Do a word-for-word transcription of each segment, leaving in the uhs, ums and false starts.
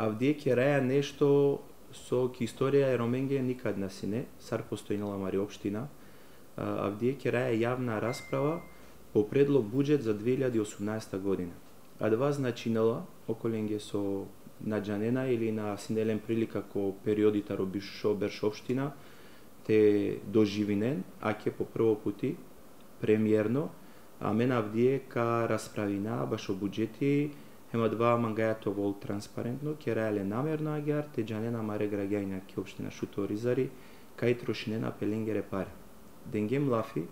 Авдие ќе раја нешто со ки историја е Роменге никад насине, сар постојнала Мари општина. Авдие ќе раја јавна расправа по предлог буџет за две илјади и осумнаесета година. А два значинала околенге со наџанена или на синелен прилика ко периодите робишо берш општина, те доживинен, а ке по прво пути премиерно, а мен Авдие ка расправина баш о буџети, ема два мангајато вол транспарентно, ке рајале намерно агјар, те џанена маре граѓајна ке општина Шуто Оризари, кај трошинена пеленгере паре. Денге млафи,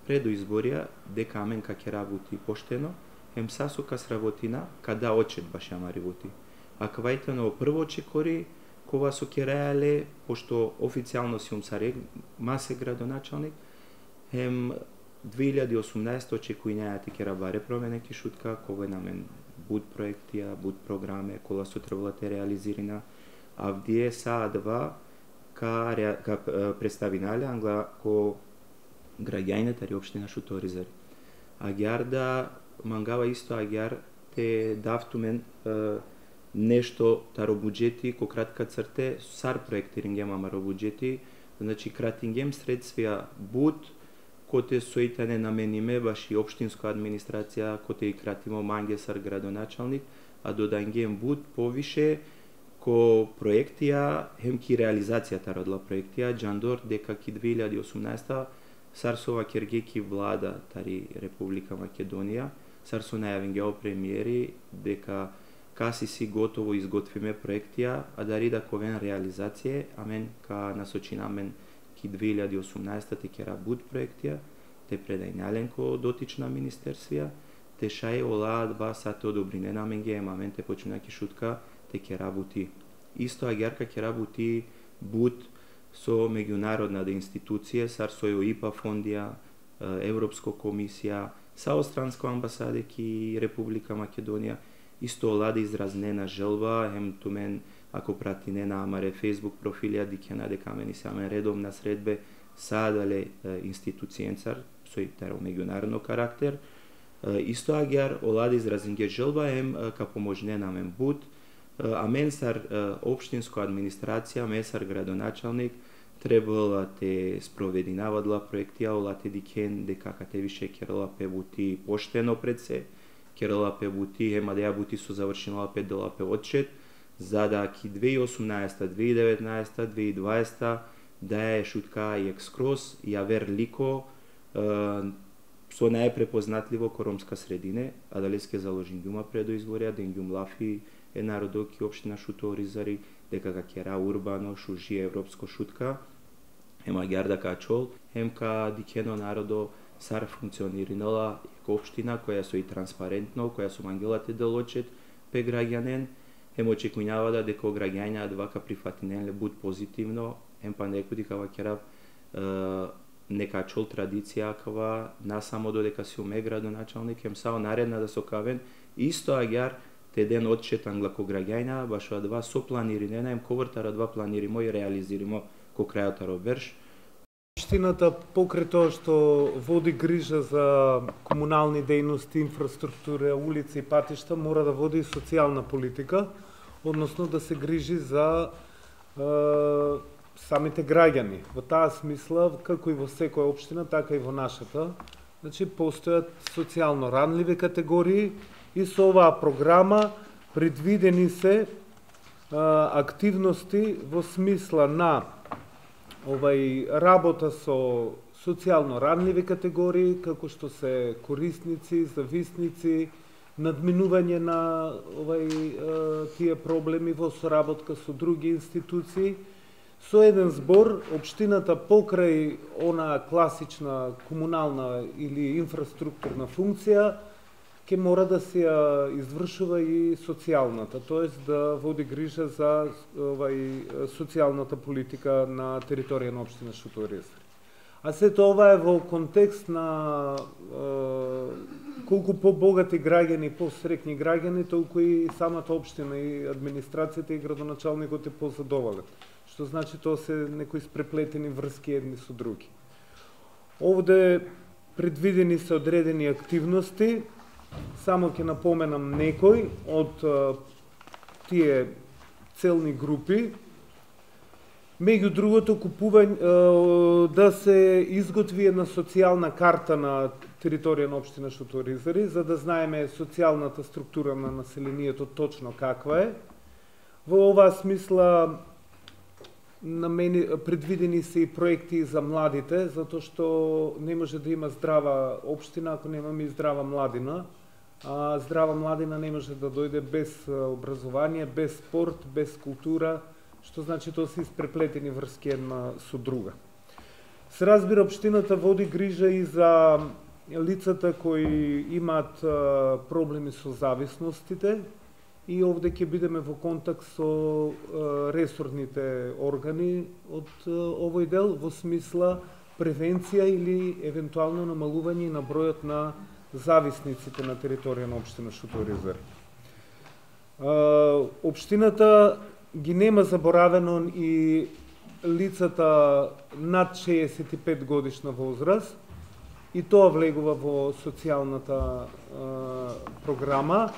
предо изборија, дека амен ка ке работи поштено, ем сасу ка сработина, када очет баш ја мари воти. А квајтено прво чекори, кова со ке рајале, пошто официјално си умсарек, масе градоначалник, ем две илјади и осумнаесета очекувањата ке рабаре промене ки шутка, кога на мен буд проектија, буд програме, кола со требала те реализирина, Авдие са два ка, ка представинале англа ко граѓајната ри општина Шуто Оризари. Агјар да мангава исто агјар те давтумен е, нешто таро буџети ко кратка црте сар проектирингем амаро буџети, значи кратингем средствија буд коте соитане намениме баш и општинска администрација, коте и кратимо манге сар градоначалник, а додангем буд повише ко проектија, хем ки реализацијата родла проектија, џандор дека ки две илјади и осумнаесета сар со ова кергеки влада тари Република Македонија, сар со најавен премиери дека каси си готово изготвиме проектија, а дари да ковен реализација, амен ка насочина мен ки две илјади и осумнаесета те ке работ проектија, те предајнален ко дотична министерствија, те шај олаа два сате одобринена мен ге амен те почина ки шутка, те ке работи. Исто агјарка ке работи буд со меѓународна институција, сар со ИПА фондија, Европска комисија, са Остранска амбасада ки Република Македонија, исто оладе изразнена желба, хем тумен ако прати не на амаре Facebook профилија, дикена дека мени се амен редовна средбе, садале институцијенцар, со и таро меѓународно карактер, исто агјар оладе изразинге желба, хем ка поможнена мен буд, а мен сар општинска администрација, мен сар градоначалник, требала те спровединавадла проектија, ола те дикен дека кате више керала пе бути поштено пред се, керала пе бути, ема да ја бути со завршинала пет дела пе отчет, за да ки две илјади и осумнаесета, две илјади и деветнаесета, две илјади и дваесета да ја шутка и екскроз, ја вер лико, со најпрепознатливо ко ромска средине, а дали ске заложин гјума предо изборија, ден гјум лафи е народо ки општина Шуто Оризари, дека ка кера урбано, шужи европско шутка, ема агјар да ка чол, хем ка дикено народо сар функциониринала ко општина која со и транспарентно, која со мангелате делочет пе граѓанен, хем очекувањава да дека граѓања два ка прифатинеле буд позитивно, хем па некои кава керав нека чол традиција кава на само додека си уме градоначалник, хем сао наредна да со кавен, исто агјар те ден отчет англако граѓајна, баш два со планиринена, хем ковртара два планиримо и реализиримо ко крајотаро верш. Општината покрај тоа што води грижа за комунални дејности, инфраструктура, улици и патишта, мора да води и социјална политика, односно да се грижи за е, самите граѓани. Во таа смисла, како и во секоја општина, така и во нашата, значи постојат социјално ранливи категории и со оваа програма предвидени се е, активности во смисла на овај работа со социјално ранливи категории, како што се корисници, зависници, надминување на овај тие проблеми во соработка со други институции. Со еден збор, општината покрај она класична комунална или инфраструктурна функција, ќе мора да се ја извршува и социјалната, тоест да води грижа за овај социјалната политика на територија на општина Шуто Оризари. А сето ова е во контекст на е, колку побогати граѓани, посрекни граѓани, толку и самата општина и администрацијата и градоначалникот е позадоволен. Што значи тоа се некои спреплетени врски едни со други. Овде предвидени се одредени активности. Само ќе напоменам некои од тие целни групи. Меѓу другото, купување, да се изготви една социјална карта на територија на општина Шуторизари, за да знаеме социјалната структура на населението точно каква е. Во оваа смисла намени, предвидени се и проекти за младите, затоа што не може да има здрава општина ако немаме и здрава младина. А здрава младина не може да дојде без образование, без спорт, без култура, што значи тоа се испреплетени врски една со друга. Се разбира, општината води грижа и за лицата кои имаат проблеми со зависностите, и овде ќе бидеме во контакт со ресорните органи од овој дел, во смисла превенција или евентуално намалување на бројот на зависниците на територија на општина Шуторизари. Општината ги нема заборавено и лицата над шеесет и пет годишна возраст, и тоа влегува во социјалната програма,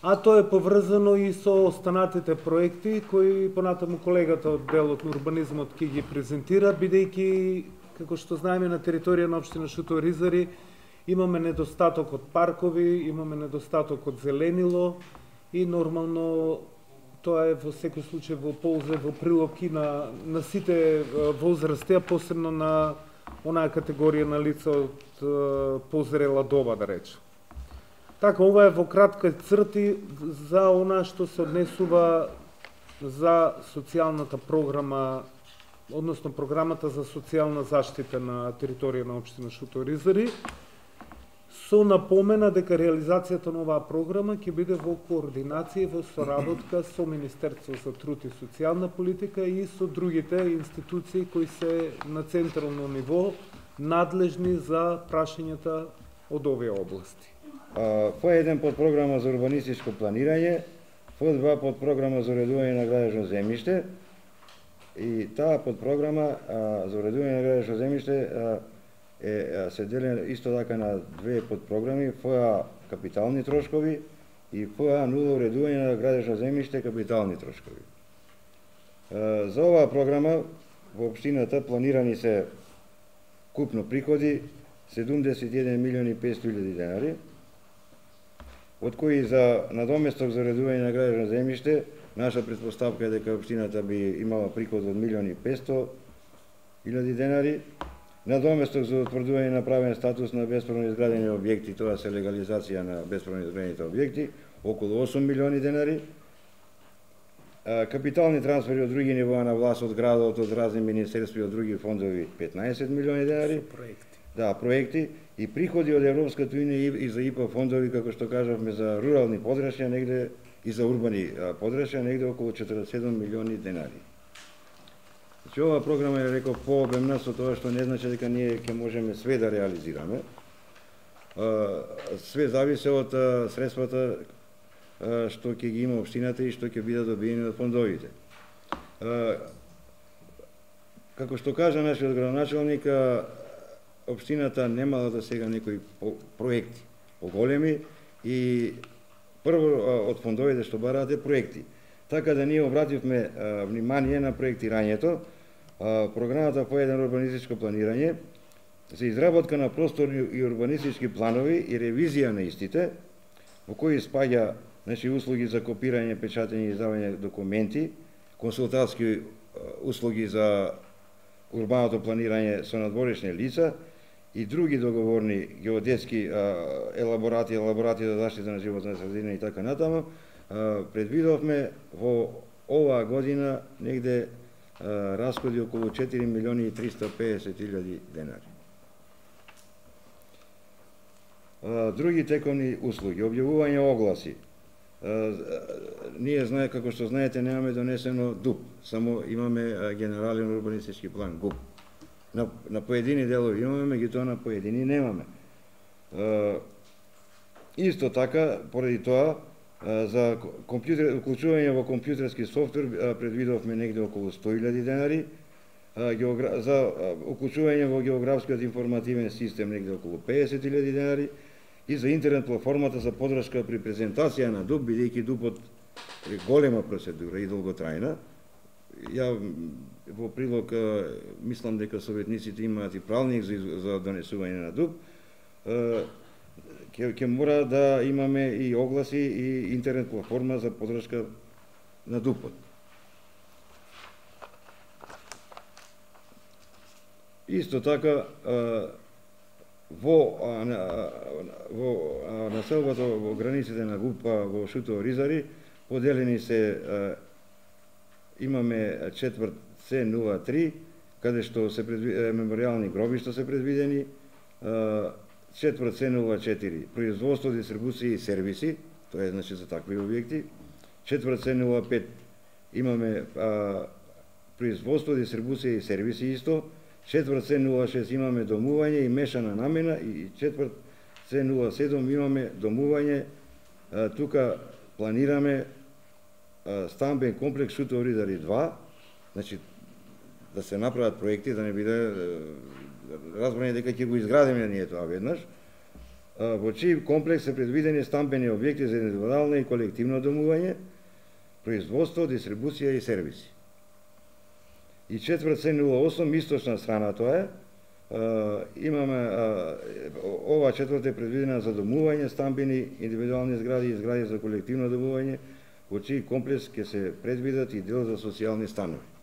а тоа е поврзано и со останатите проекти кои понатаму колегата од делот на урбанизмот ќе ги презентира, бидејќи, како што знаеме, на територија на општина Шуторизари имаме недостаток од паркови, имаме недостаток од зеленило и нормално тоа е во секој случај во полза, во прилог и на, на сите возрасти, а посебно на онаа категорија на лица од позрела доба, да речем. Така, ова е во кратки црти за она што се однесува за социјалната програма, односно програмата за социјална заштита на територија на општина Шуторизари, со напомена дека реализацијата на оваа програма ќе биде во координација и во соработка со Министерство за труд и социјална политика и со другите институции кои се на централно ниво надлежни за прашањата од овие области. Ф еден подпрограма за урбанистичко планирање, Ф два подпрограма за уредување на градежно земјиште, и таа подпрограма за уредување на градежно земјиште е се дели исто така на две подпрограми, Ф А капитални трошкови и Ф А нула уредување на градежно земјиште капитални трошкови. За оваа програма во општината планирани се купно приходи седумдесет и еден милиони и петстотини илјади денари, од кои за надоместок за уредување на градежно земјиште, наша претпоставка е дека општината би имала приход од милион и петстотини илјади денари, надоместок за утврдување на правен статус на бесправно изградени објекти, тоа се легализација на бесправно изградените објекти, околу осум милиони денари, капитални трансфери од други нивоа на власт, од градот, од разни министерства и од други фондови петнаесет милиони денари. Да, проекти и приходи од Европската унија и за И П фондови, како што кажавме, за рурални подрачја негде и за урбани подрачја негде околу четиридесет и седум милиони денари. Значи, оваа програма е, реков, пообемна, со тоа што не значи дека ние ќе можеме све да реализираме. Све зависи од средствата што ќе ги има општината и што ќе бидат добиени од фондовите. Како што кажа нашиот градоначалник, општината немала до сега некои проекти поголеми и прво од фондовите што бараат е проекти. Така да ние обративме внимание на проектирањето. Програмата Ф еден урбанистичко планирање за изработка на просторни и урбанистички планови и ревизија на истите, во кои спаѓа, значи, услуги за копирање, печатење и издавање документи, консултатски услуги за урбаното планирање со надворешни лица и други договорни геодетски елаборати, елаборати за заштита на животна средина и така натаму. Предвидовме во оваа година негде расходи околу четири милиони и триста и педесет илјади денари. Други тековни услуги, објавување огласи. Ние знае, како што знаете, немаме донесено ДУП, само имаме генерален урбанистички план, ГУП. На, на поедини делови имаме, меѓутоа на поедини немаме. Исто така, поради тоа, за компјутер, уклучување во компјутерски софтвер предвидовме негде околу сто илјади денари, за уклучување во географскиот информативен систем негде околу педесет илјади денари и за интернет платформата за подршка при презентација на ДУП, бидејќи ДУПот голема процедура и долготрајна. Ја во прилог мислам дека советниците имаат и правник за, за донесување на ДУП. Ќе ќе мора да имаме и огласи и интернет платформа за подршка на ДУПот. Исто така во во населбата во границите на ГУП-а во Шутово Ризари поделени се имаме четврт С нула три каде што се предвидени меморијални гробишта се предвидени, четврт С нула четири производство, дистрибуција и сервиси, тоа е значи за такви објекти, четврт С нула пет имаме а, производство, дистрибуција и сервиси исто, четврт С нула шест имаме домување и мешана намена и четврт С нула седум имаме домување, а, тука планираме а, стамбен комплекс Шутово Ризари два, значи да се направат проекти, да не биде разбрани дека ќе го изградиме ние тоа веднаш, во чиј комплекс се предвидени стамбени објекти за индивидуално и колективно домување, производство, дистрибуција и сервиси. И четврт С нула осум, источна страна тоа е, имаме, ова четврт е предвидена за домување, стамбени, индивидуални згради и згради за колективно домување, во чиј комплекс ќе се предвидат и дел за социјални станови.